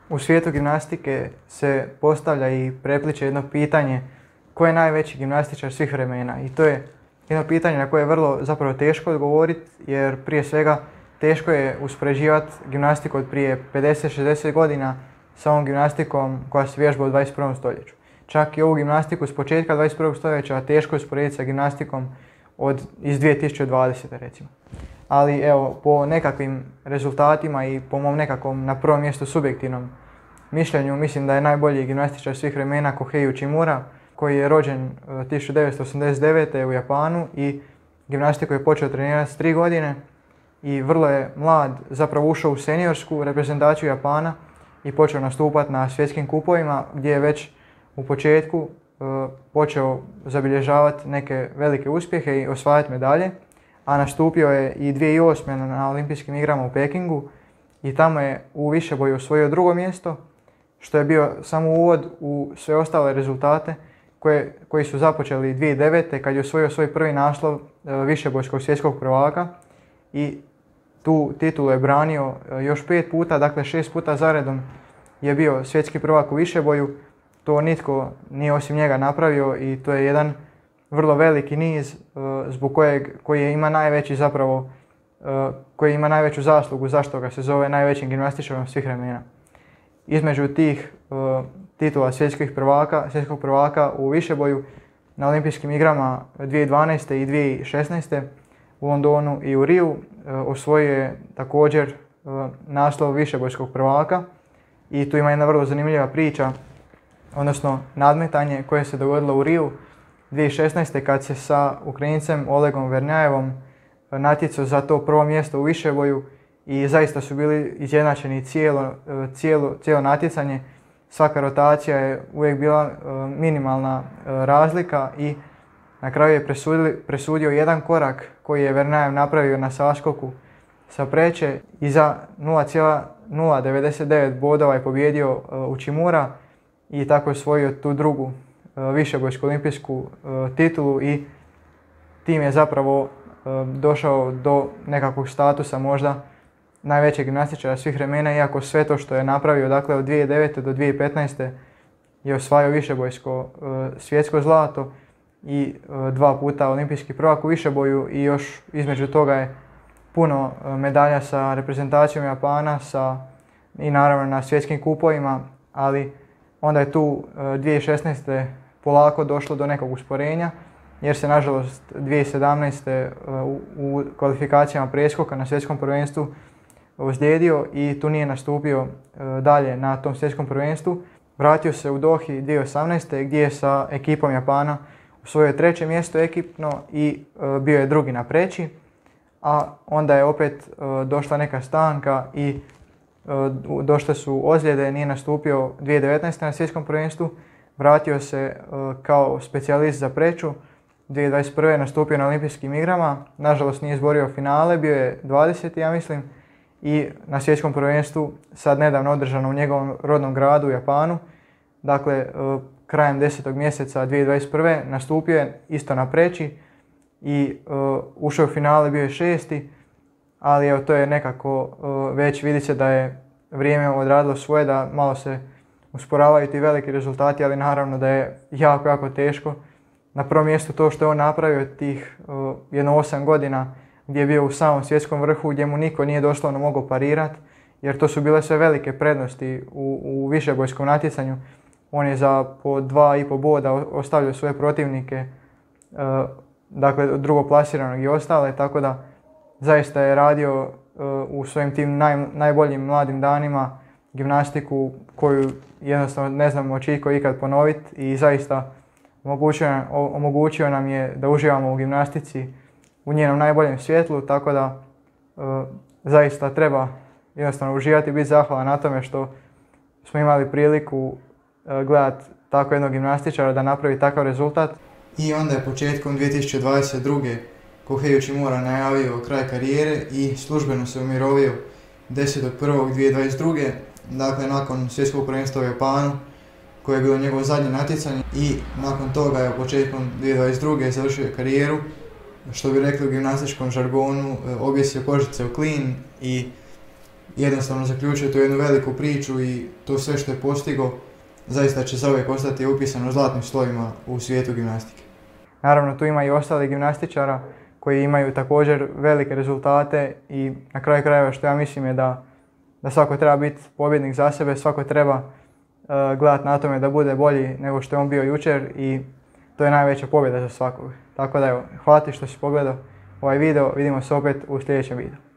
U svijetu gimnastike se postavlja i prepliče jedno pitanje ko je najveći gimnastičar svih vremena. I to je jedno pitanje na koje je vrlo zapravo teško odgovoriti, jer prije svega teško je uspoređivati gimnastiku od prije 50-60 godina sa ovom gimnastikom koja se vježba u 21. stoljeću. Čak i ovu gimnastiku s početka 21. stoljeća teško je usporediti sa gimnastikom iz 2020. recimo. Ali evo, po nekakvim rezultatima i po mom nekakvom na prvom mjestu subjektivnom mišljenju, mislim da je najbolji gimnastičar svih vremena Kohei Uchimura, koji je rođen 1989. u Japanu i gimnastiku je počeo trenirati s 3 godine i vrlo je mlad, zapravo ušao u seniorsku reprezentaciju Japana i počeo nastupati na svjetskim kupovima gdje je već u početku počeo zabilježavati neke velike uspjehe i osvajati medalje, a nastupio je i 2008. na olimpijskim igrama u Pekingu i tamo je u višeboju osvojio 2. mjesto, što je bio samo uvod u sve ostale rezultate koji su započeli 2009. kad je osvojio svoj prvi naslov višebojskog svjetskog prvaka i tu titulu je branio još 5 puta, dakle 6 puta zaredom je bio svjetski prvak u višeboju. To nitko nije osim njega napravio i to je jedan vrlo veliki niz zbog koji ima najveći zapravo, koji ima najveću zaslugu zašto ga se zove najvećim gimnastičarom svih vremena. Između tih titula svjetskog prvaka u višeboju na olimpijskim igrama 2012. i 2016. u Londonu i u Riju osvojio je također naslov višebojskog prvaka i tu ima jedna vrlo zanimljiva priča, odnosno nadmetanje koje se dogodilo u Riju 2016. kad se sa Ukrajincem Olegom Vernjajevom natjecao za to prvo mjesto u višeboju i zaista su bili izjednačeni cijelo natjecanje. Svaka rotacija je uvijek bila minimalna razlika i na kraju je presudio jedan korak koji je Vernjajev napravio na saskoku sa preče i za 0,099 bodova je pobijedio Uchimura i tako je osvojio tu drugu višebojsku olimpijsku titulu i tim je zapravo došao do nekakvog statusa možda najvećeg gimnastičara svih vremena, iako sve to što je napravio, dakle od 2009. do 2015. je osvajao višebojsko svjetsko zlato i 2 puta olimpijski prvak u višeboju i još između toga je puno medalja sa reprezentacijom Japana i naravno na svjetskim kupovima, ali onda je tu 2016. polako došlo do nekog usporenja jer se nažalost 2017. u kvalifikacijama preskoka na svjetskom prvenstvu ozlijedio i tu nije nastupio dalje na tom svjetskom prvenstvu. Vratio se u Dohi 2018. gdje je sa ekipom Japana osvojio 3. mjesto ekipno i bio je 2. na preći, a onda je opet došla neka stanka i došle su ozljede, nije nastupio 2019. na svjetskom prvenstvu, vratio se kao specijalist za preču, 2021. nastupio na olimpijskim igrama, nažalost nije izborio finale, bio je 20. ja mislim, i na svjetskom prvenstvu sad nedavno održano u njegovom rodnom gradu u Japanu, dakle krajem 10. mjeseca 2021. nastupio je isto na preći i ušao u finale, bio je 6. ali evo to je nekako već vidi se da je vrijeme odradilo svoje, da malo se usporavaju ti veliki rezultati, ali naravno da je jako teško. Na prvom mjestu to što je on napravio tih jedno 8 godina gdje je bio u samom svjetskom vrhu, gdje mu niko nije doslovno mogao parirati, jer to su bile sve velike prednosti u višebojskom natjecanju. On je za po 2,5 boda ostavljao svoje protivnike, dakle drugoplasiranog i ostale, tako da zaista je radio u svojim tim najboljim mladim danima gimnastiku koju jednostavno ne znamo hoće itko ikad ponoviti i zaista omogućio nam je da uživamo u gimnastici u njenom najboljem svjetlu, tako da zaista treba jednostavno uživati i biti zahvalan na tome što smo imali priliku gledati tako jednog gimnastičara da napravi takav rezultat. I onda je početkom 2022. Kohei Uchimura najavio kraj karijere i službeno se umirovio 10.1.2022. Dakle, nakon svjetskog prvenstva u Japanu, koje je bilo njegovo zadnje natjecanje, i nakon toga je početkom 2022. završio karijeru, što bi rekli u gimnastičkom žargonu, objesio kožice u klin i jednostavno zaključio tu jednu veliku priču i to sve što je postigao zaista će zauvijek ostati upisano zlatnim slovima u svijetu gimnastike. Naravno, tu ima i ostalih gimnastičara koji imaju također velike rezultate i na kraju krajeva što ja mislim je da svako treba biti pobjednik za sebe, svako treba gledati na tome da bude bolji nego što je on bio jučer i to je najveća pobjeda za svakog. Tako da evo, hvala ti što si pogledao ovaj video, vidimo se opet u sljedećem videu.